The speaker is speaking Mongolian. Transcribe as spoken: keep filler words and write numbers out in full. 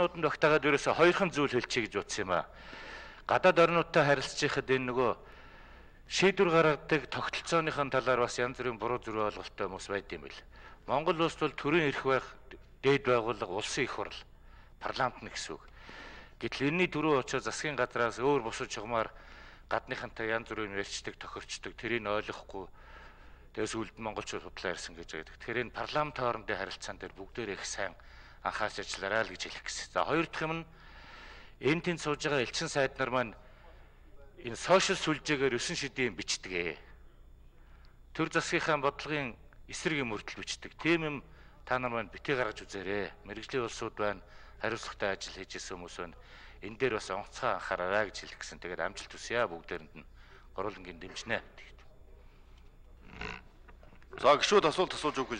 Нууданд багтаагаад ерөөсө хоёрхан зүйл хэлчихье гэж утсан юм аа. Гадаад орнуудтай харилцахад энэ нөгөө шийдвэр гаргадаг тогтолцооныхон талаар бас янз бүрийн буруу зүрх ойлголттой хүмүүс байд юм бэл. Монгол улс бол төрийн эрх байх дээд байгууллага улсын их хурл парламент нь гэсэн үг. Гэтэл энэний төрөө очоо засгийн газраас өөр бусад чугамар гадныхантай янз бүрийн ярьцдаг тохирчдаг тэрийг ойлгохгүй тэгээс үлд монголчууд худлаа ярьсан гэж байдаг. Тэгэхээр энэ парламент хоорондын харилцаан дээр бүгдээр их сайн анхаарч ажиллаарай л гэж хэлэх гэсэн. За хоёр дахь юм нь энэ тэнд сууж байгаа элчин сайд нар маань энэ сошиал сүлжээгээр өсөн шидийн бичдэг. Төр засгийнхаа бодлогын эсрэг юм өртөл бичдэг. Тийм юм та нар маань битгий гаргаж үзээрэй. Мэргэжлийн улсууд байна, хариуцлагатай ажил хийж исэн хүмүүс байна. Энэ дээр бас онцгой анхаараарай гэж хэлэх гэсэн. Тэгээд амжилт хүсье бүгдээрэнд нь гурвангийн дэмжнэ. За гişүүд асуулт асууж өгөх